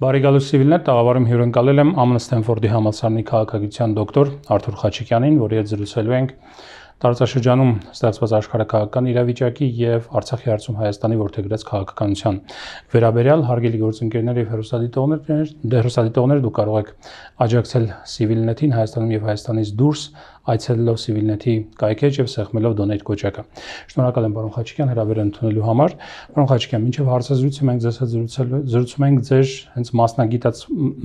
Բարեկալուս Սիվիլներ տաղավարում հյուրընկալել եմ ԱՄՆ Ստենֆորդի համալսարանի քաղաքագիտության դոկտոր Արթուր Խաչիկյանին, որի հետ զրուցելու ենք տարածաշրջանում ստեղծված աշխարհակաղակական իրավիճակի եւ Արցախի հարցում Հայաստանի որդեգրած քաղաքականության վերաբերյալ հարգելի գործընկերներ եւ հեռուստադիտողներ դուք կարող եք աջակցել Civilnet-ին Հայաստանում եւ Հայաստանից դուրս այցելելով Civilnet-ի կայքեջ եւ սեղմելով donate կոճակը։ Շնորհակալ եմ պարոն Խաչիկյան հրավերը ընդունելու համար։ Պարոն Խաչիկյան, մինչեւ հարցազրույցը մենք ձեզ հետ զրուցում ենք ձեր հենց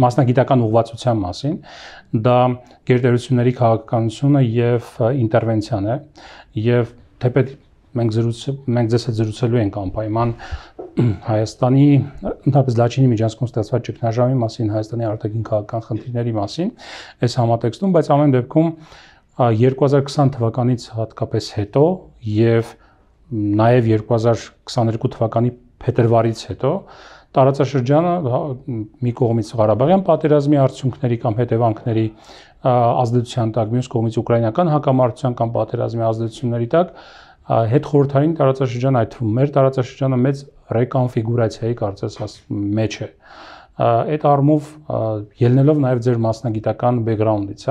մասնագիտական ուղղվածության մասին։ Դա գերտերությունների քաղաքականությունը եւ ինտերվենցիան է եւ թեպետ մենք ձեզ հետ զրուցելու ենք անպայման Հայաստանի ընդհանրապես Լաչինի միջանցքում ստեղծված ճգնաժամի մասին, Հայաստանի արտաքին քաղաքական խնդիրների մասին այս համատեքստում, բայց ամեն դեպքում 2020 թվականից հատկապես հետո եւ նաեւ 2022 թվականի փետրվարից հետո տարածաշրջանը մի կողմից Ղարաբաղյան պատերազմի արդյունքների կամ հետևանքների ազդեցության տակ, մյուս կողմից ուկրաինական հակամարտության կամ պատերազմի ազդեցությունների տակ հետ խորհրդային տարածաշրջանը, այդ թվում մեր տարածաշրջանը մեծ ռեկոնֆիգուրացիայի կարծես մեջ է։ Այդ առումով ելնելով նաև ձեր մասնագիտական բեքգրաունդից,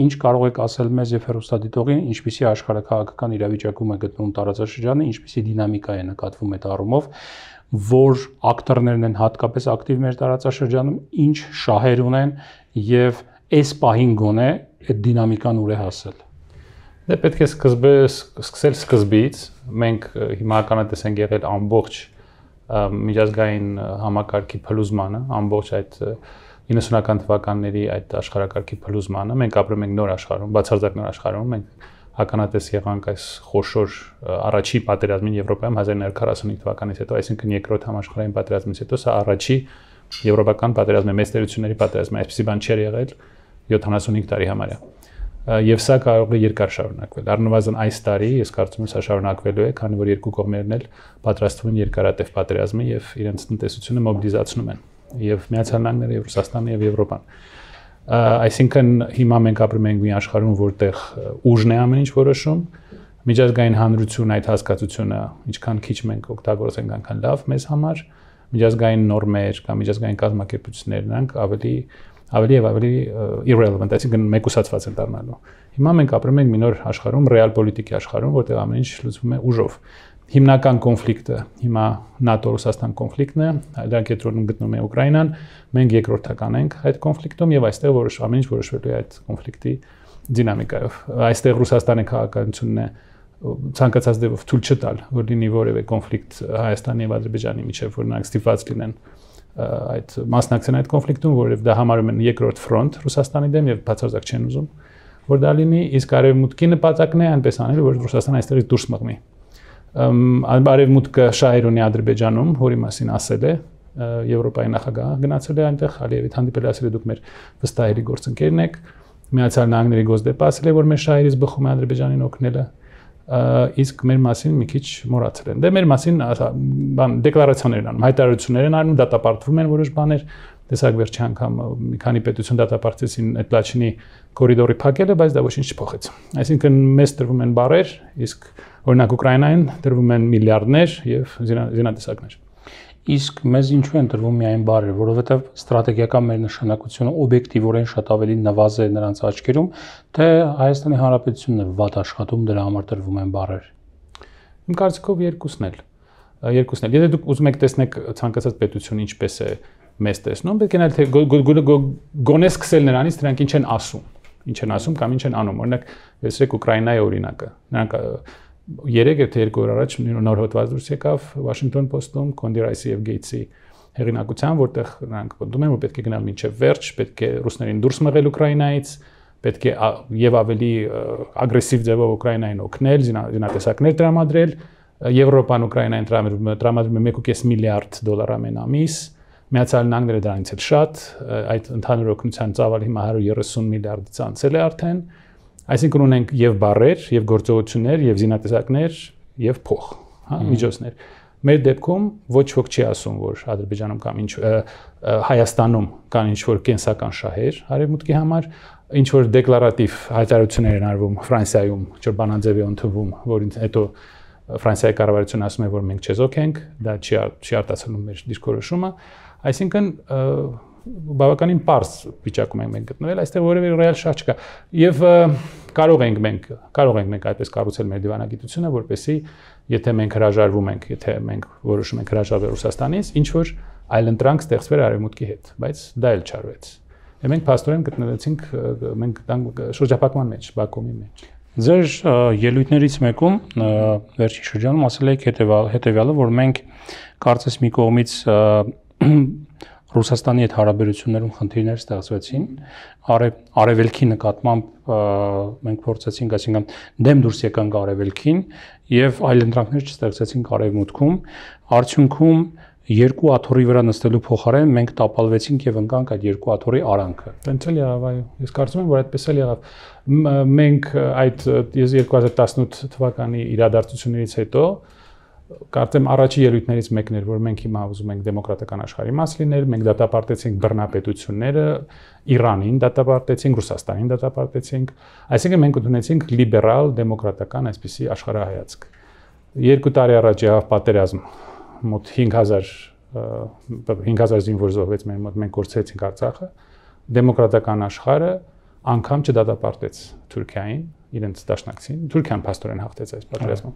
ինչ կարող եք ասել մեզ եւ հեռուստադիտողին, ինչպիսի աշխարհակաղակական իրավիճակում է գտնվում տարածաշրջանը, ինչպիսի դինամիկա է նկատվում այդ առումով, որ ակտորներն են հատկապես ակտիվ մեր տարածաշրջանում, ինչ շահեր ունեն եւ այս պահին գոնե այդ դինամիկան ուր է հասել։ Դե պետք է սկսել սկզբից, մենք հիմա ականատես ենք եղել ամբողջ միջազգային համակարգի փլուզմանը, ամբողջ այդ 90-ական թվականների այդ աշխարհակարգի փլուզմանը, մենք ապրում ենք նոր աշխարհում, բացարձակ նոր աշխարհում, մենք ականատես եղանք այս խոշոր առաջի պատերազմին Եվրոպայում 1945 թվականից հետո, այսինքն երկրորդ համաշխարհային պատերազմից հետո սա առաջի եվրոպական պատերազմը, մեծ տերությունների պատերազմը, այսպեսի բան չէր եղել 75 տարի համարյա։ Եվ սա կարող է երկար շարունակվել։ Առնվազն այս տարի ես կարծում եմ սա շարունակվելու է, քանի որ երկու կողմերն էլ պատրաստվում են երկարատև պատերազմի եւ իրենց տնտեսությունը մոբիլիզացնում են, եւ Միացյալ Նահանգները, եւ Ռուսաստանը եւ Եվրոպան։ Այսինքն հիմա մենք ապրում ենք մի աշխարհում, որտեղ ուժն է ամեն ինչ որոշում, միջազգային հանրություն այդ հասկացությունը ինչքան քիչ մենք օգտագործենք, այնքան լավ մեզ համար, միջազգային նորմեր կամ միջազգային կազմակերպություններ նրանք ավելի irrelevant, այսինքն մեկուսացված են դառնալու։ Հիմա մենք ապրում ենք մի նոր աշխարհում, ռեալ պոլիտիկի աշխարհում, որտեղ ամեն ինչ լուծվում է ուժով։ Հիմնական կոնֆլիկտը հիմա ՆԱՏՕ-Ռուսաստան կոնֆլիկտն է, դրա կենտրոնում գտնվում է Ուկրաինան, մենք երկրորդական ենք այդ կոնֆլիկտում եւ այստեղ ամեն ինչ որոշվելու է այդ կոնֆլիկտի դինամիկայով։ Այստեղ Ռուսաստանի քաղաքականությունն է ցանկացած դեպով թույլ չտալ, որ լինի որևէ կոնֆլիկտ Հայաստանի եւ Ադրբեջանի միջեւ, որ նրանք ստիպված լինեն այդ մասնակցեն այդ կոնֆլիկտում, որովհետև դա համարում են երկրորդ ֆրոնտ Ռուսաստանի դեմ եւ բացարձակ չեն ուզում, որ դա լինի, իսկ արևմուտքի նպատակն է այնպես անել, որ Ռուսաստանը այստեղից դուրս մղնի։ Արևմուտքը շահեր ունի Ադրբեջանում, որի մասին ասել է Եվրոպայի նախագահը, գնացել է այնտեղ, Ալիևիդ հանդիպել է, ասել է դուք մեր վստահելի գործընկերն եք, Միացյալ Նահանգների գոսդեպը ասել է, որ մեր շահերից բխում է Ադրբեջանին օգնելը, իսկ մեր մասին մի քիչ մոռացել են։ Դե մեր մասին դեկլարացիաներ են անում, հայտարարություններ են անում, դատապարտվում են որոշ բաներ, տեսակ վերջի անգամ մի քանի պետություն դատապարտեցին այդ Լաչինի կորիդորի փակելը, բայց դա ոչինչ չփոխեց։ Այսինքն մեզ տրվում են բարեր, իսկ օրինակ Ուկրաինային տրվում են միլիարդներ եւ զինատեսակներ։ Իսկ մեզ ինչու են տրվում միայն բարեր, որովհետև ստրատեգիական մեր նշանակությունը օբյեկտիվորեն շատ ավելի նվազ է նրանց աչքերում, թե Հայաստանի Հանրապետությունն է վատ աշխատում, դրա համար տրվում են բարեր։ Իմ կարծիքով երկուսն էլ։ Եթե դուք ուզում եք տեսնեք ցանկացած պետություն ինչպես է մեզ տեսնում, պետք է նայել թե գոնե սկսել նրանից դրանք ինչ են ասում կամ ինչ են անում։ Օրինակ, տեսեք Ուկրաինայի օրինակը։ Նրանք 3 թե 2 օր առաջ նոր հոդված դուրս եկավ Washington Post-ում Կոնդի Ռայսի եւ Գեյթսի հեղինակությամբ, որտեղ նրանք պնդում են, որ պետք է գնալ մինչև վերջ, պետք է ռուսներին դուրս մղել Ուկրաինայից, պետք է եւ ավելի ագրեսիվ ձևով Ուկրաինային օգնել, զինատեսակներ տրամադրել, Եվրոպան Ուկրաինային տրամադրում է 1.5 միլիարդ դոլար ամեն ամիս, Միացյալ Նահանգները դրանից էլ շատ, այդ ընդհանուր օգնության ծավալը հիմա 130 միլիարդից անցել է արդեն։ Այսինքն ունենք եւ բարեր, եւ գործողություններ, եւ զինատեսակներ, եւ փող, միջոցներ։ Մեր դեպքում ոչ ոք չի ասում, որ Ադրբեջանում կամ Հայաստանում կան ինչ-որ կենսական շահեր արևմուտքի համար, ինչ-որ դեկլարատիվ հայտարարություններ են արվում Ֆրանսիայում, Ճորբանաձևի ընդունվում, որին հետո Ֆրանսիայի կառավարությունը ասում է, որ մենք չեզոք ենք, դա չի արտացոլում մեր դիրքորոշումը, Այսինքն բավականին པարզ վիճակում ենք մենք գտնվել, այստեղ որևէ ռեալ շահ չկա։ Եվ կարող ենք մենք այդպես կառուցել մեր դիվանագիտությունը, որպեսզի եթե մենք հրաժարվում ենք, եթե մենք որոշում ենք հրաժարվել Ռուսաստանից, ինչ որ այլընտրանք ստեղծվեր Արևմուտքի հետ, բայց դա էլ չարվեց։ Եվ մենք փաստորեն գտնվեցինք մենք շրջափակման մեջ, Բաքումի մեջ։ Ձեր ելույթներից մեկում վերջին շրջանում ասել եք հետևյալը, որ մենք կարծես մի կողմից Ռուսաստանի հետ հարաբերություններում խնդիրներ ստեղծվեցին, արևելքի նկատմամբ մենք փորձեցինք, այսինքն դեմ դուրս եկանք արևելքին եւ այլընտրանքներ չստեղծեցինք արևմուտքում, արդյունքում երկու աթոռի վրա նստելու փոխարեն մենք տապալվեցինք եւ ընկանք այդ երկու աթոռի արանքը։ Տենց էլ եղավ, այո։ Ես կարծում եմ, որ այդպես էլ եղավ։ Մենք այդ 2018 թվականի իրադարձություններից հետո կարծեմ առաջի ելույթներից մեկն էր, որ մենք հիմա ուզում ենք դեմոկրատական աշխարհի մաս լինել, մենք դատապարտեցինք բռնապետությունները, Իրանին դատապարտեցինք, Ռուսաստանին դատապարտեցինք, այսինքն մենք ընդունեցինք լիբերալ դեմոկրատական այսպիսի աշխարհայացք։ 2 տարի առաջ եղավ պատերազմ, մոտ 5000 զինվոր զոհվեց մեր մոտ, մենք կորցրեցինք Արցախը, դեմոկրատական աշխարհը անգամ չդատապարտեց Թուրքիային, իրենց դաշնակցին, Թուրքիան փաստորեն հաղթեց այս պատերազմում։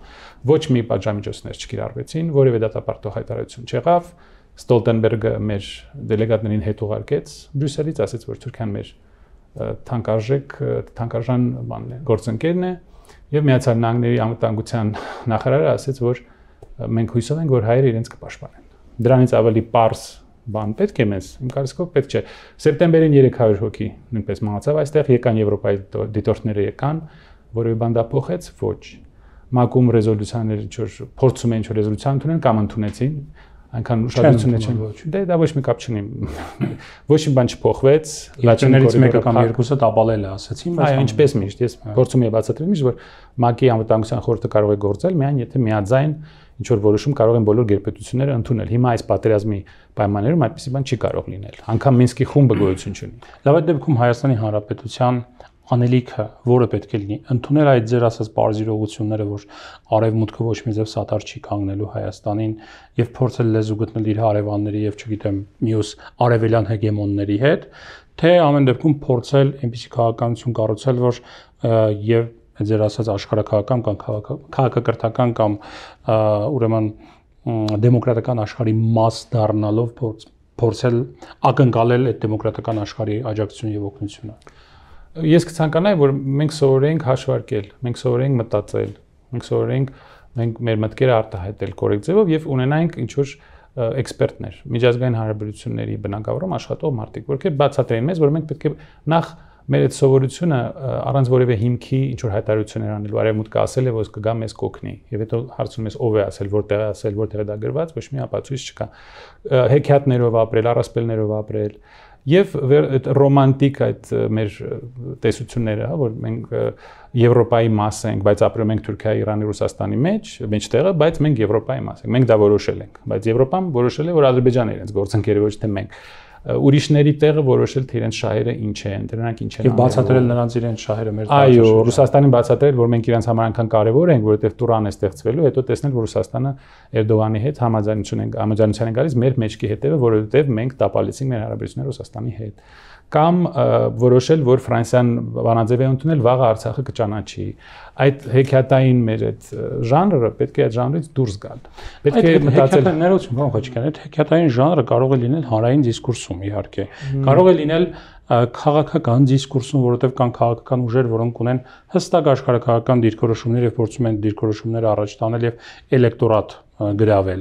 Ոչ մի պատժամիջոցներ չկիրառվեցին, որևէ դատապարտող հայտարարություն չեղավ։ Ստոլտենբերգը մեր դելեգատներին հետ ուղարկեց Բրյուսելից, ասաց, որ Թուրքիան մեր թանկարժան գործընկերն է, եւ Միացյալ Նահանգների անվտանգության նախարարը ասաց, որ մենք հույսով ենք, որ հայերը իրենց կպաշտպանեն։ Դրանից ավելի པարզ բան պետք է մեզ, իմ կարծիքով պետք չէ։ Սեպտեմբերին 300 հոգի նույնպես մահացավ այստեղ, եկան Եվրոպայի դիտորդները եկան, որևէ բան դա փոխեց, ոչ։ ՄԱԿ-ում ռեզոլյուցիաներ ինչ-որ փորձում են ինչ-որ ռեզոլյուցիա ընդունել կամ ընդունեցին, այնքան ուշադրություն չեն ոչ։ Դե դա ոչ մի կապ չունի։ Ոչ մի բան չփոխվեց, լաչներից մեկը կամ երկուսը տապալել է, ասացին, բայց այո, ինչպես միշտ, ես փորձում եմ բացատրել միշտ, որ ՄԱԿ-ի անվտանգության խորհուրդը կարող է գործել միայն եթե միաձայն ինչ որ որոշում կարող են բոլոր գերպետությունները ընդունել։ Հիմա այս պատերազմի պայմաններում այդպիսի բան չի կարող լինել։ Անգամ Մինսկի խումբը գոյություն չունի։ Լավ, այդ դեպքում Հայաստանի Հանրապետության անելիքը որը պետք է լինի, ընդունել այդ ձեր ասած բարձրողությունները, որ արևմուտքը ոչ մի ձև սատար չի կանգնելու Հայաստանին եւ փորձել լեզու գտնել իր հարևանների եւ չգիտեմ մյուս արևելյան հեգեմոնների հետ, թե ամեն դեպքում փորձել այնպիսի քաղաքականություն կառուցել, որ եւ ձեր ասած աշխարհակաղակական կամ քաղաքակրթական կամ ուրեմն դեմոկրատական աշխարհի մաս դառնալով փորձել ակնկալել այդ դեմոկրատական աշխարհի աջակցությունը եւ օգնությունը։ Ես կցանկանայի, որ մենք սովորենք հաշվարկել, մենք սովորենք մտածել, մենք սովորենք մեր մտքերը արտահայտել կորեկտ ձևով եւ ունենանք ինչ որ էքսպերտներ, միջազգային հարաբերությունների բնագավառում աշխատող մարդիկ, որոնք բացատրեն մեզ, որ մենք պետք է նախ մեր այդ սովորությունը առանց որևէ հիմքի ինչ որ հայտարարություններ անելու, արևմուտքը ասել է, որ կգա մեզ կօգնի, եւ հետո հարցնում ես ով է ասել, որտեղ է ասել, որտեղ է դա գրված, ոչ մի ապացույց չկա։ Հեքիաթներով ապրել, առասպելներով ապրել եւ այդ ռոմանտիկ այդ մեր տեսությունները, հա, որ մենք Եվրոպայի մաս ենք, բայց ապրում ենք Թուրքիայի, Իրանի, Ռուսաստանի մեջտեղը, բայց մենք Եվրոպայի մաս ենք։ Մենք դա որոշել ենք, բայց Եվրոպան որոշել է, որ Ադրբեջանն է իրենց գործընկերը, ոչ թե մենք։ Ուրիշների տեղը որոշել թե իրենց շահերը ինչ են, դրանք ինչ են եւ բացատրել նրանց իրենց շահերը մեր այո, Ռուսաստանին բացատրել, որ մենք իրենց համար այնքան կարեւոր ենք, որովհետեւ Տուրան է ստեղծվելու, հետո տեսնել, որ Ռուսաստանը Էրդողանի հետ համաձայնության են գալիս մեր մեջքի հետևը, որովհետեւ մենք տապալեցինք մեր հարաբերությունները Ռուսաստանի հետ։ Կամ որոշել, որ Ֆրանսիան բանաձև է ընդունել, վաղը Արցախը կճանաչի։ Այդ հեքիաթային մեր այդ ժանրը պետք է այդ ժանրից դուրս գալ։ Պետք է մտածել ներողություն, բան խոչիկան, այդ հեքիաթային ժանրը կարող է լինել հանրային դիսկուրսում, իհարկե։ Կարող է լինել քաղաքական դիսկուրսում, որովհետև կան քաղաքական ուժեր, որոնք ունեն հստակ աշխարհակաղակական դիրքորոշումներ եւ փորձում են դիրքորոշումները առաջ տանել եւ էլեկտորատ գրավել,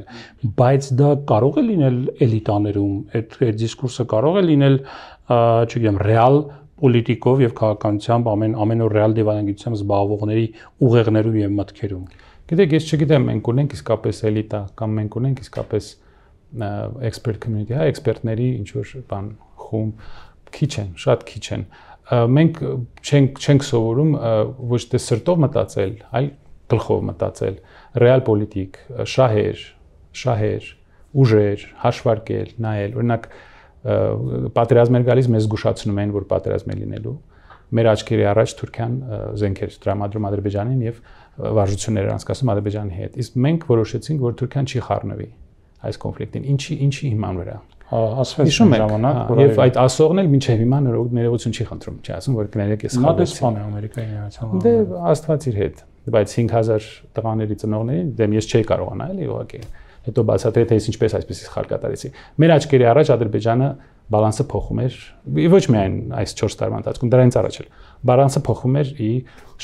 բայց դա կարող է լինել էլիտաներում, այդ դիսկուրսը կարող է լինել, չգիտեմ, ռեալ պոլիտիկով եւ քաղաքականությամբ ամեն օր ռեալ դիվանագիտությամբ զբաղվողների ուղեղներում եւ մտքերում։ Գիտեք, ես չգիտեմ, մենք ունենք իսկապես էլիտա կամ մենք ունենք իսկապես expert community, հա, էքսպերտների ինչ որ բան խումբ քիչ են, շատ քիչ են։ Մենք չենք սովորում ոչ թե սրտով մտածել, այլ գլխով մտածել, ռեալ պոլիտիկ, շահեր, ուժեր, հաշվարկել, նայել, օրինակ պատերազմ էր գալիս, մեզ զգուշացնում են, որ պատերազմ է լինելու։ Մեր աչքերի առաջ Թուրքիան զենքեր տրամադրում Ադրբեջանին եւ վարժություններ անցկացնում Ադրբեջանի հետ։ Իսկ մենք որոշեցինք, որ Թուրքիան չի խառնվի այս կոնֆլիկտին։ Ինչի հիման վրա։ ասվեց ժամանակ, եւ այդ ասողն էլ մինչեւ հիմա ներողություն չի խնդրում, չի ասում, որ կներեք ես խաղացի։ Նա դեսպան է Ամերիկայի Միացյալ Նահանգների։ Դե Աստված իր հետ, բայց 5000 տղաների ծնողներին դեմ ես չէի կարողանա էլի ուղղակի։ Հետո բացատրել թե ես ինչպես այսպես սխալ կատարեցի։ Մեր աչքերի առաջ Ադրբեջանը բալանսը փոխում էր, ոչ միայն այս 4 տարվա ընթացքում, դրանից առաջ էլ։ Բալանսը փոխում էր ի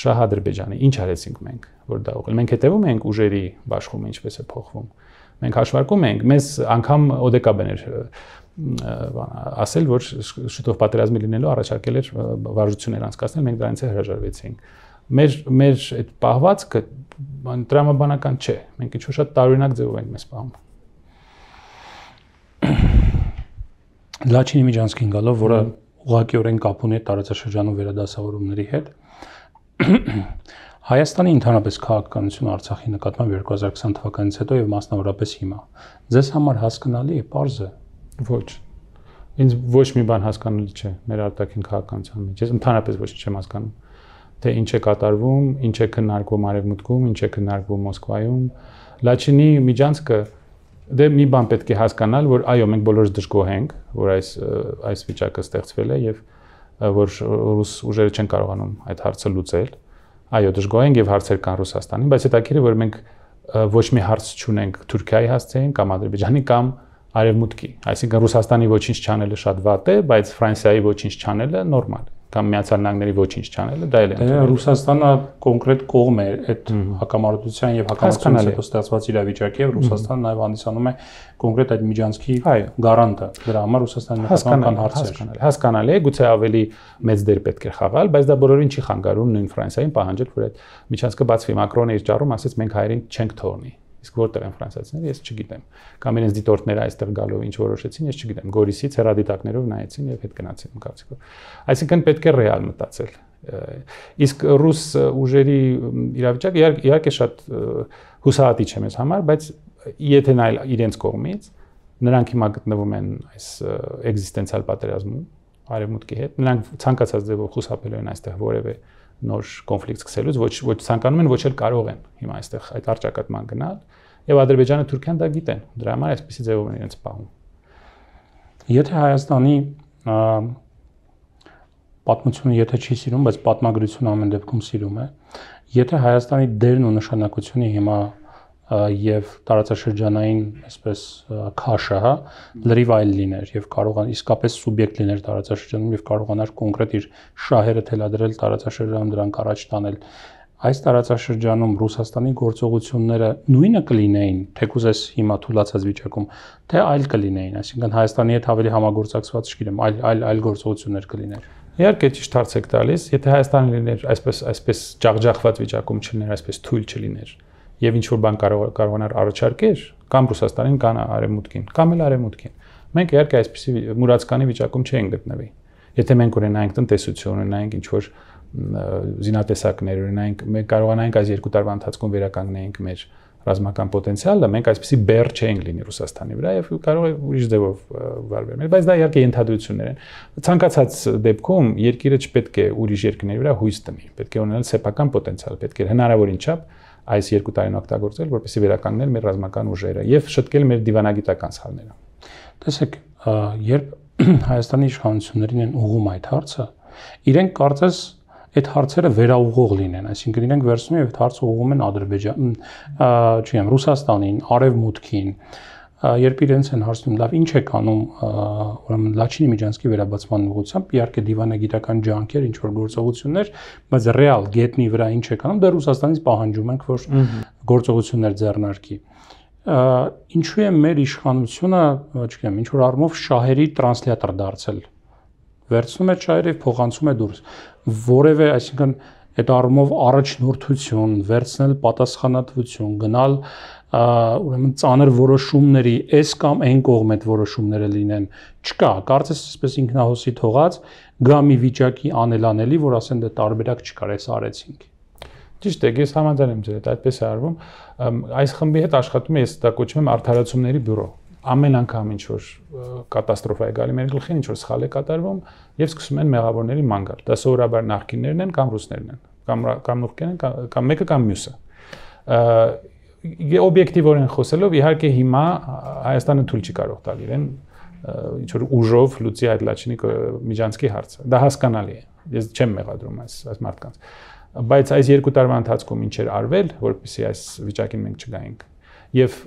շահ Ադրբեջանի։ Ինչ արեցինք մենք, որ դա ուղղել։ Մենք հետևում ենք ուժերի բաշխումը ինչպես է փոխվում։ Մենք հաշվարկում ենք, մեզ անգամ ՕԴԿ-ն էր ասել, որ շուտով պատերազմի լինելու առաջարկել էր վարժություններ անցկացնել, մենք դրանից հրաժարվեցինք։ Մեր այդ պահվածքը տրամաբանական չէ։ Մենք ինչ-որ շատ տարօրինակ ձևով ենք մեզ պահում։ Լաչինի Միջանցքին գալով, որը ուղղակիորեն կապ ունի տարածաշրջանում վերադասավորումների հետ, Հայաստանի ընդհանրապես քաղաքականությունը Արցախի նկատմամբ 2020 թվականից հետո եւ մասնավորապես հիմա ձեզ համար հասկանալի է, պարզ է։ Ոչ։ Ինձ ոչ մի բան հասկանալի չէ մեր արտաքին քաղաքականության մեջ։ Ես ընդհանրապես ոչ չեմ հասկանում, թե ինչ է կատարվում, ինչ է քննարկվում Արևմուտքում, ինչ է քննարկվում Մոսկվայում։ Լաչինի Միջանցքը դե մի բան պետք է հասկանալ, որ այո, մենք բոլորս դժգոհ ենք, որ այս վիճակը ստեղծվել է եւ որ ռուս ուժերը չեն կարողանում այդ հարցը լուծել։ Այո, դժգոհ ենք եւ հարցեր կան Ռուսաստանին, բայց հետաքրքիր է, որ մենք ոչ մի հարց չունենք Թուրքիայի հասցեին կամ Ադրբեջանի կամ Արևմուտքի։ Այսինքն Ռուսաստանի ոչինչ չանելը շատ վատ է, բայց Ֆրանսիայի ոչինչ չանելը նորմալ է։ Կամ Միացյալ Նահանգների ոչինչ չանելը, դա էլ է։ Դե Ռուսաստանը կոնկրետ կողմ է այդ հակամարտության եւ հակամարտությունից հետո ստեղծված իրավիճակի եւ Ռուսաստանը նաեւ հանդիսանում է կոնկրետ այդ Միջանցքի գարանտը։ Դրա համար Ռուսաստանի նկատմամբ կան հարցեր։ Հասկանալի է, գուցե ավելի մեծ դեր պետք է խաղալ, բայց դա բոլորին չի խանգարում նույն Ֆրանսիային պահանջել, որ այդ Միջանցքը բացվի։ Մակրոնը իր ճառում ասեց մենք հայերին չենք թողնի։ Իսկ որտեղ են ֆրանսիացիները, ես չգիտեմ։ Կամ իրենց դիտորդները այստեղ գալով ինչ որոշեցին, ես չգիտեմ։ Գորիսից հեռադիտակներով նայեցին եւ հետ գնացին կարծիքով։ Այսինքն պետք է ռեալ մտածել։ Իսկ ռուս ուժերի իրավիճակը իհարկե շատ հուսահատիչ է մեզ համար, բայց եթե նայել իրենց կողմից, նրանք հիմա գտնվում են այս էգզիստենցիալ պատերազմում Արևմուտքի հետ, նրանք ցանկացած ձևով խուսափելու են այստեղ որևէ նոր կոնֆլիկտ սկսելուց, ոչ ցանկանում են, ոչ էլ կարող են հիմա այստեղ այդ արճակատման գնալ, եւ Ադրբեջանը Թուրքիան դա գիտեն, դրա համար այսպեսի ձևով են իրենց պահում։ Եթե Հայաստանի պատմությունը եթե չի սիրում, բայց պատմագրությունը ամեն դեպքում սիրում է, եթե Հայաստանի դերն ու նշանակությունը հիմա եւ տարածաշրջանային այսպես քաշը, հա, լրիվ այլ լիներ եւ կարողան իսկապես սուբյեկտ լիներ տարածաշրջանում եւ կարողանար կոնկրետ իր շահերը թելադրել տարածաշրջանում դրանք առաջ տանել։ Այս տարածաշրջանում Ռուսաստանի գործողությունները նույնը կլինեին, թեկուզ այս հիմա թուլացած վիճակում, թե այլ կլինեին, այսինքն Հայաստանի հետ ավելի համագործակցված, չգիտեմ, այլ գործողություններ կլիներ։ Իհարկե ճիշտ հարց եք տալիս, եթե Հայաստանը լիներ այսպես ջախջախված վիճակում չլիներ, այսպես թույլ չլիներ եւ ինչ որ բան կարողանար առաջարկեր կամ Ռուսաստանին կամ Արևմուտքին, կամ էլ Արևմուտքին։ Մենք իհարկե այսպիսի մուրացկանի վիճակում չենք գտնվի։ Եթե մենք ունենայինք տնտեսություն, ունենայինք ինչ որ զինատեսակներ, ունենայինք, մենք կարողանայինք այս 2 տարվա ընթացքում վերականգնեինք մեր ռազմական պոտենցիալը, մենք այսպիսի բեռ չենք լինի Ռուսաստանի վրա եւ կարող է ուրիշ ձևով վարվել։ Բայց դա իհարկե ենթադրություններ են։ Ցանկացած դեպքում երկիրը չպետք է ուրիշ երկրների վրա հույս տնի, պետք է ունենալ սեփական պոտենցիալ, պետք է հնարավորին չափ այս 2 տարին օգտագործել, որպեսզի վերականգնել մեր ռազմական ուժերը եւ շտկել մեր դիվանագիտական սխալները։ Տեսեք, երբ Հայաստանի իշխանություններին են ուղղում այդ հարցը, իրենք կարծես այդ հարցերը վերաուղղող լինեն, այսինքն իրենք վերցնում են այդ հարցը ուղղում են Ադրբեջան, չգիտեմ, Ռուսաստանին, Արևմուտքին, երբ իրենց են հարցնում, լավ, ինչ եք անում, ուրեմն Լաչինի Միջանցքի վերաբացման ուղղությամբ, իհարկե դիվանագիտական ջանքեր, ինչ որ գործողություններ, բայց ռեալ գետնի վրա ինչ եք անում, դեռ Ռուսաստանից պահանջում ենք, որ գործողություններ ձեռնարկի։ Ինչու է մեր իշխանությունը, չգիտեմ, ինչ որ առումով շահերի տրանսլյատոր դարձել։ Վերցնում է շահերը եւ փոխանցում է դուրս։ Որևէ, այսինքն այդ առումով առաջնորդություն, վերցնել պատասխանատվություն, գնալ ուրեմն ծանր որոշումների, այս կամ այն կողմ այդ որոշումները լինեն, չկա, կարծես այսպես ինքնահոսի թողած գա մի վիճակի անելանելի, որ ասեն դե տարբերակ չկար, այս արեցինք։ Ճիշտ է, ես համաձայն եմ ձեր հետ, այդպես է արվում։ Այս խմբի հետ աշխատում եմ, ես դա կոչում եմ արդարացումների բյուրո։ Ամեն անգամ ինչ որ կատաստրոֆա է գալի մեր գլխին, ինչ որ սխալ է կատարվում եւ սկսում են մեղավորների ման գալ։ Դա սովորաբար նախկիններն են կամ ռուսներն են, կամ նուրքերն են, կամ մեկը կամ մյուսը։ Օբյեկտիվորեն խոսելով, իհարկե հիմա Հայաստանը թույլ չի կարող տալ իրեն ինչ որ ուժով լուծի այդ Լաչինի միջանցքի հարցը։ Դա հասկանալի է։ Ես չեմ մեղադրում այս մարդկանց։ Բայց այս 2 տարվա ընթացքում ինչ էր արվել, որպեսզի այս վիճակին մենք չգայինք։ Եվ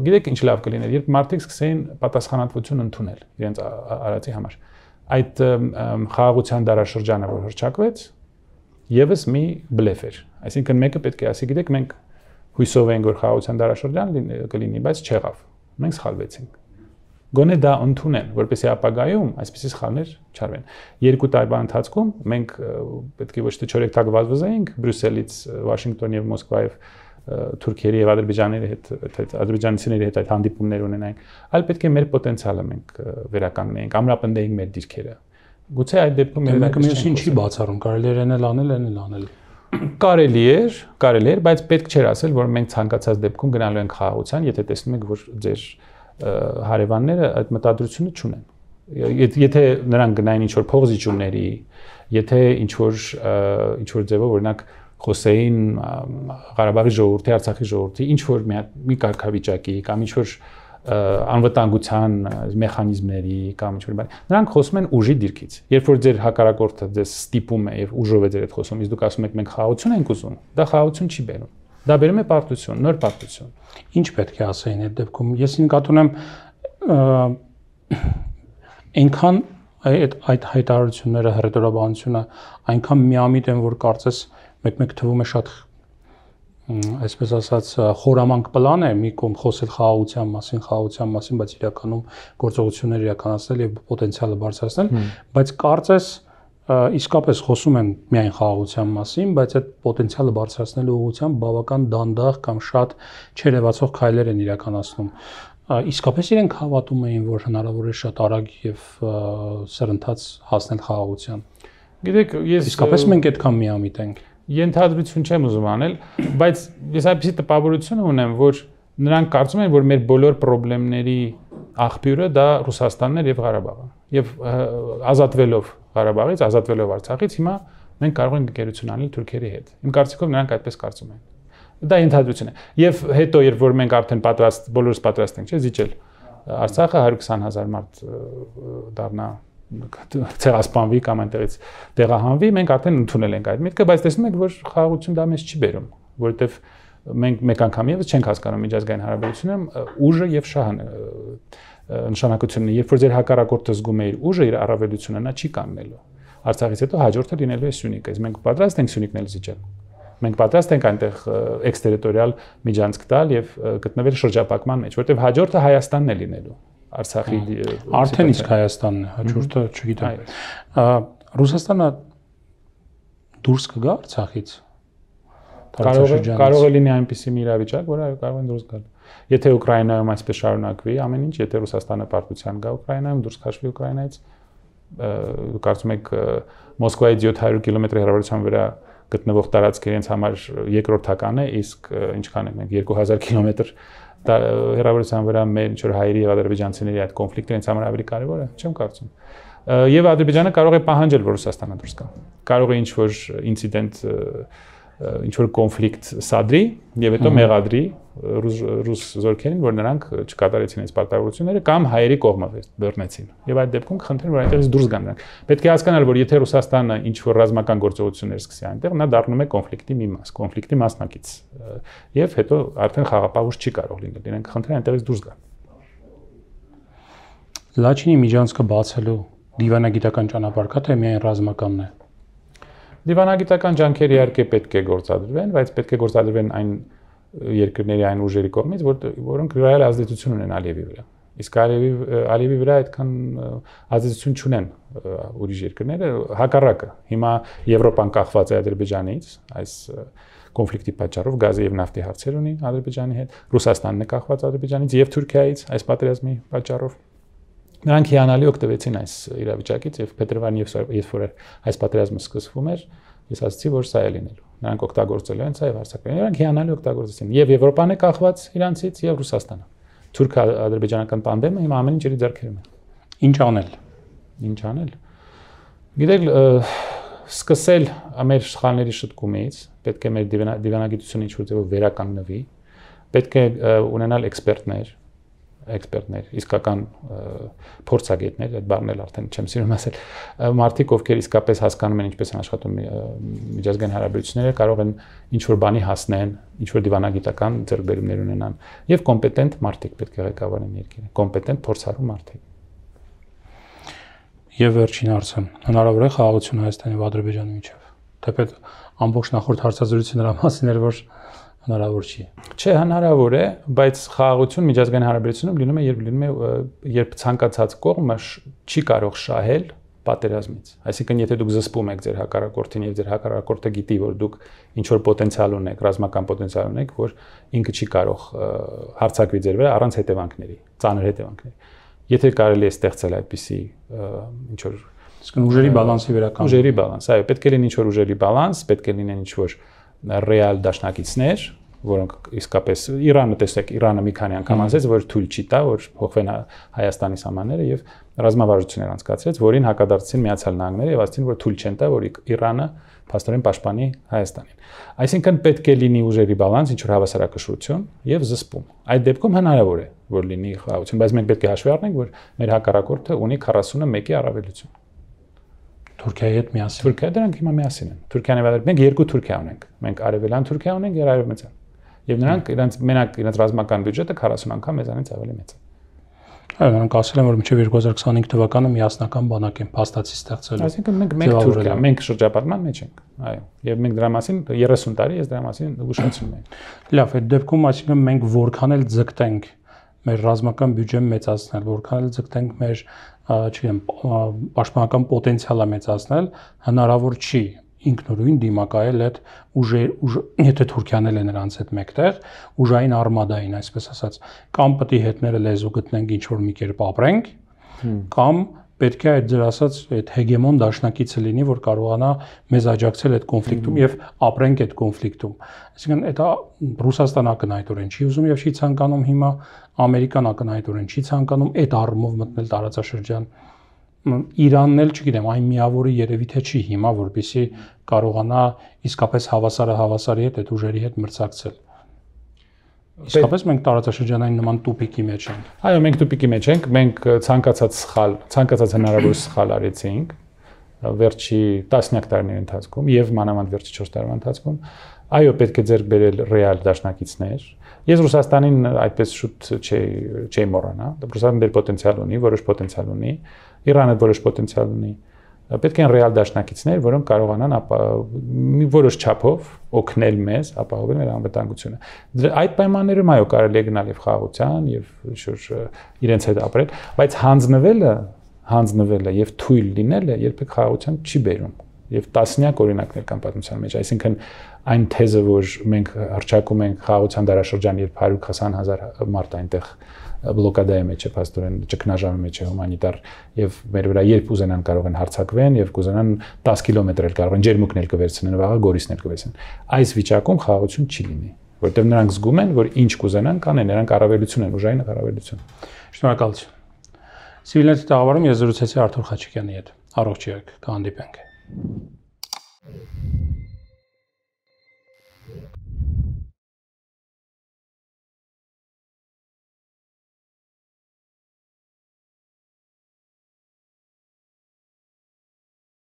գիտեք ինչ լավ կլիներ, երբ մարդիկ սկսեին պատասխանատվություն ընդունել իրենց արածի համար։ Այդ խաղաղության դարաշրջանը, որ հռչակվեց, եւս մի բլեֆ էր։ Այսինքն մեկը պետք է ասի, գիտեք, մենք հույսով ենք, որ խաղաղության դարաշրջան կլինի, բայց չեղավ։ Մենք սխալվեցինք։ Գոնե դա ընդունեն, որպեսզի ապագայում այսպիսի սխալներ չարվեն։ 2 տարվա ընթացքում մենք պետք է ոչ թե չորեքթակ վազվզեինք Բրյուսելից, Վաշինգտոն եւ Մոսկվայով Թուրքիայի եւ Ադրբեջանների հետ, ադրբեջանցիների հետ այդ հանդիպումներ ունենայինք, այլ պետք է մեր պոտենցիալը մենք վերականգնեինք, ամրապնդեինք մեր դիրքերը։ Գուցե այդ դեպքում մեկը մյուսին չի բացառում, կարելի էր անել։ Կարելի էր, բայց պետք չէր ասել, որ մենք ցանկացած դեպքում գնալու ենք խաղաղության, եթե տեսնում եք, որ ձեր հարևանները այդ մտադրությունը չունեն։ Եթե նրանք գնային ինչ-որ փողզիջումների, եթե ինչ-որ ձևով օրինակ խոսեին Ղարաբաղի ժողովրդի, Արցախի ժողովրդի, ինչ-որ մի կարգավիճակի կամ ինչ-որ անվտանգության մեխանիզմների կամ ինչ-որ բան, նրանք խոսում են ուժի դիրքից։ Երբ որ ձեր հակառակորդը ձեզ ստիպում է եւ ուժով է ձեր հետ խոսում, իսկ դուք ասում եք մենք խաղաղություն ենք ուզում, դա խաղաղություն չի բերում։ Դա բերում է պարտություն, նոր պարտություն։ Ինչ պետք է ասեին այդ դեպքում։ Ես նկատի ունեմ այնքան այդ հայտարարությունները, հռետորաբանությունը այնքան միամիտ են, որ կարծես մեկ թվում է շատ այսպես ասած խորամանկ պլան է մի կողմ խոսել խաղաղության մասին, բայց իրականում գործողություններ իրականացնել եւ պոտենցիալը բարձրացնել, բայց կարծես իսկապես խոսում են միայն խաղաղության մասին, բայց այդ պոտենցիալը բարձրացնելու ուղղությամբ բավական դանդաղ կամ շատ չերևացող քայլեր են իրականացնում։ Իսկապես իրենք հավատում էին, որ հնարավոր է շատ արագ եւ սրընթաց հասնել խաղաղության։ Գիտեք, ես իսկապես մենք այդքան միամիտ ենք։ Ենթադրություն չեմ ուզում անել, բայց ես այնպեսի տպավորություն ունեմ, որ նրանք կարծում են, որ մեր բոլոր խնդիրների աղբյուրը դա Ռուսաստանն էր եւ Ղարաբաղը։ Եվ ազատվելով Ղարաբաղից, ազատվելով Արցախից, հիմա մենք կարող ենք ընկերություն անել Թուրքիայի հետ։ Իմ կարծիքով նրանք այդպես կարծում են։ Դա ենթադրություն է։ Եվ հետո, երբ որ մենք արդեն բոլորս պատրաստ ենք, չէ՞, զիջել Արցախը 120,000 մարդ դառնա ցեղասպանվի կամ այնտեղից տեղահանվի, մենք արդեն ընդունել ենք այդ միտքը, բայց տեսնում եք, որ խաղաղություն դա մեզ չի բերում, որովհետև մենք մեկ անգամ եւս չենք հասկանում միջազգային հարաբերությունում ուժը եւ շահը նշանակությունն է, երբ որ ձեր հակառակորդը զգում է իր ուժը, իր առավելությունը, նա չի կանգնելու։ Արցախից հետո հաջորդը լինելու է Սյունիքը, իսկ մենք պատրաստ ենք Սյունիքն էլ զիջել։ Մենք պատրաստ ենք այնտեղ էքստերիտորիալ միջանցք տալ եւ գտնվել շրջապակման մեջ, որովհետեւ հաջորդը Հայաստանն է լինելու։ Արցախի արդեն իսկ Հայաստանն է, հաջորդը չգիտեմ։ Ռուսաստանը դուրս կգա Արցախից։ Կարող է լինի այնպիսի մի իրավիճակ, որ կարող են դուրս գալ։ Եթե Ուկրաինայում այսպես շարունակվի ամեն ինչ, եթե Ռուսաստանը պարտության գա Ուկրաինայում, դուրս քաշվի Ուկրաինայից, կարծում եք Մոսկվայից 700 կիլոմետր հեռավորության վրա գտնվող տարածքը իրենց համար երկրորդական է, իսկ ինչքան ենք մենք 2000 կիլոմետր հեռավորության վրա մեր ինչ որ հայերի եւ ադրբեջանցիների այդ կոնֆլիկտը իրենց համար ավելի կարեւոր է, չեմ կարծում։ Եվ Ադրբեջանը կարող է պահանջել, որ Ռուսաստանը դուրս գա։ Կարող է ինչ որ ինցիդենտ ինչ որ կոնֆլիկտ սադրի եւ հետո մեղադրի ռուս զորքերին, որ նրանք չկատարեցին այս պարտավորությունները կամ հայերի կողմը բռնեցին։ Եվ այդ դեպքում կխնդրեն, որ այնտեղից դուրս գան նրանք։ Պետք է հասկանալ, որ եթե Ռուսաստանը ինչ որ ռազմական գործողություններ սկսի այնտեղ, նա դառնում է կոնֆլիկտի մի մաս, կոնֆլիկտի մասնակից։ Եվ հետո արդեն խաղաղ ուժ չի կարող լինել։ Իրենք կխնդրեն այնտեղից դուրս գան։ Լաչինի միջանցքը բացելու դիվանագիտական ճանապարհ կա, թե միայն ռազմականն է։ Դիվանագիտական ջանքեր իհարկե պետք է գործադրվեն, բայց պետք է գործադրվեն այն երկրների այն ուժերի կողմից, որոնք ռեալ ազդեցություն ունեն Ալիևի վրա։ Իսկ Ալիևի վրա այդքան ազդեցություն չունեն ուրիշ երկրները, հակառակը։ Հիմա Եվրոպան կախված է Ադրբեջանից, այս կոնֆլիկտի պատճառով գազի եւ նավթի հարցեր ունի Ադրբեջանի հետ, Ռուսաստանն է կախված Ադրբեջանից եւ Թուրքիայից այս պատերազմի պատճառով։ Նրանք հիանալի օգտվեցին այս իրավիճակից եւ փետրվարին երբ որ այս պատերազմը սկսվում էր, ես ասացի, որ սա է լինելու։ Նրանք օգտագործել են սա եւ հարձակվել։ Նրանք հիանալի օգտագործեցին եւ Եվրոպան է կախված իրանցից եւ Ռուսաստանը։ Թուրք-ադրբեջանական տանդեմը հիմա ամեն ինչ իր ձեռքերում է։ Ինչ անել։ Ինչ անել։ Գիտեք, սկսել մեր սխալների շտկումից, պետք է մեր դիվանագիտությունը ինչ-որ ձևով վերականգնվի, պետք է ունենալ էքսպերտներ, էքսպերտներ, իսկական փորձագետներ, այդ բառն էլ արդեն չեմ սիրում ասել, մարդիկ, ովքեր իսկապես հասկանում են ինչպես են աշխատում միջազգային հարաբերությունները, կարող են ինչ-որ բանի հասնեն, ինչ-որ դիվանագիտական ձեռքբերումներ ունենան, եւ կոմպետենտ մարդիկ պետք է ղեկավարեն երկիրը, կոմպետենտ փորձառու մարդիկ։ Եվ վերջին հարցը, հնարավոր է խաղաղություն Հայաստանի եւ Ադրբեջանի միջեւ։ Թեպետ ամբողջ նախորդ հարցազրույցը նրա մասին էր, որ հնարավոր չի։ Չէ, հնարավոր է, բայց խաղաղություն միջազգային հարաբերությունում լինում է, երբ ցանկացած կողմը չի կարող շահել պատերազմից։ Այսինքն, եթե դուք զսպում եք ձեր հակառակորդին եւ ձեր հակառակորդը գիտի, որ դուք ինչ որ պոտենցիալ ունեք, ռազմական պոտենցիալ ունեք, որ ինքը չի կարող հարձակվի ձեր վրա առանց հետևանքների, ծանր հետևանքների։ Եթե կարելի է ստեղծել այդպիսի ինչ որ ուժերի բալանսի վերականգնում։ Ուժերի բալանս, այո, պետք է լինի ինչ որ ուժերի բալանս, պետք է լինեն ինչ որ ռեալ դաշնակիցներ, որոնք իսկապես Իրանը, տեսեք, Իրանը մի քանի անգամ ասեց, որ թույլ չի տա, որ փոխվեն Հայաստանի սահմանները եւ ռազմավարություններ անցկացրեց, որին հակադարձեցին Միացյալ Նահանգները եւ ասացին, որ թույլ չեն տա, որ Իրանը փաստորեն պաշտպանի Հայաստանին։ Այսինքն պետք է լինի ուժերի բալանս, ինչ որ հավասարակշռություն եւ զսպում։ Այդ դեպքում հնարավոր է, որ լինի խաղաղություն, բայց մենք պետք է հաշվի առնենք, որ մեր հակառակորդը ունի 41-ի առավելություն։ Թուրքիայի հետ միասին։ Թուրքիա դրանք հիմա միասին են։ Թուրքիան եւ Ադրբեջանը, մենք երկու Թուրքիա ունենք։ Մենք արևելյան Թուրքիա ունենք եւ արևմտյան։ Եվ նրանք իրենց ռազմական բյուջետը 40 անգամ մեզանից ավելի մեծ է։ Այո, նրանք ասել են, որ մինչև 2025 թվականը միասնական բանակ են փաստացի ստեղծելու։ Այսինքն մենք Թուրքիա, մենք շրջապատման մեջ ենք։ Այո, եւ մենք դրա մասին 30 տարի ես դրա մասին ուշացնում եմ։ Լավ, այդ դեպքում այսինքն մենք որքան էլ ձգտենք մեր ռազմական բյուջեն մեծացնել, որքան էլ ձգտենք մեր, չգիտեմ, պաշտպանական պոտենցիալը մեծացնել, հնարավոր չի ինքնուրույն դիմակայել այդ եթե Թուրքիան էլ է նրանց հետ մեկտեղ, ուժային արմադային, այսպես ասած, կամ պետք է հետները լեզու գտնենք ինչ որ մի կերպ ապրենք, կամ պետք է այդ ձեր ասած այդ հեգեմոն դաշնակիցը լինի, որ կարողանա մեզ աջակցել այդ կոնֆլիկտում եւ ապրենք այդ կոնֆլիկտում։ Այսինքն դա Ռուսաստանը ակնհայտորեն չի ուզում եւ չի ցանկանում հիմա, Ամերիկան ակնհայտորեն չի ցանկանում այդ առումով մտնել տարածաշրջան։ Իրանն էլ, չգիտեմ, այն միավորը երևի թե չի հիմա, որպեսզի կարողանա իսկապես հավասարի հետ այդ ուժերի հետ մրցակցել։ Իսկապես մենք տարածաշրջանային նման տուփիկի մեջ ենք։ Այո, մենք տուփիկի մեջ ենք, մենք ցանկացած հնարավոր սխալ արեցինք վերջի տասնյակ տարիների ընթացքում եւ մանավանդ վերջի 4 տարվա ընթացքում։ Այո, պետք է ձեռք բերել ռեալ դաշնակիցներ։ Ես Ռուսաստանին այդպես շուտ չի մոռանա։ Ռուսաստանը դեր պոտենցիալ ունի, որոշ պոտենցիալ ունի, Իրանը որոշ պոտենցիալ ունի։ Պետք են ռեալ դաշնակիցներ, որոնք կարողանան մի որոշ չափով օգնել մեզ ապահովել մեր անվտանգությունը։ Այդ պայմաններում այո կարելի է գնալ եւ խաղաղության եւ իրենց հետ ապրել, բայց հանձնվելը եւ թույլ լինելը երբեք խաղաղության չի բերում։ Եվ տասնյակ օրինակներ կան պատմության մեջ, այսինքն այն թեզը, որ մենք հռչակում ենք խաղաղության դարաշրջան, երբ 120,000 մարդ այնտեղ բլոկադայի մեջ է, փաստորեն ճգնաժամի մեջ է հումանիտար եւ մեր վրա երբ ուզենան կարող են հարձակվեն եւ կուզենան 10 կիլոմետր էլ կարող են ջերմուկն էլ կվերցնեն, վաղը գորիսն էլ կվերցնեն։ Այս վիճակում խաղաղություն չի լինի, որտեղ նրանք զգում են, որ ինչ կուզենան կանեն, նրանք առավելություն են, ուժային առավելություն։ Շնորհակալություն։ Civilnet տաղավարում ես զրուցեցի Արթուր Խաչիկյանի հետ։ Առողջ եղեք, կհանդիպենք։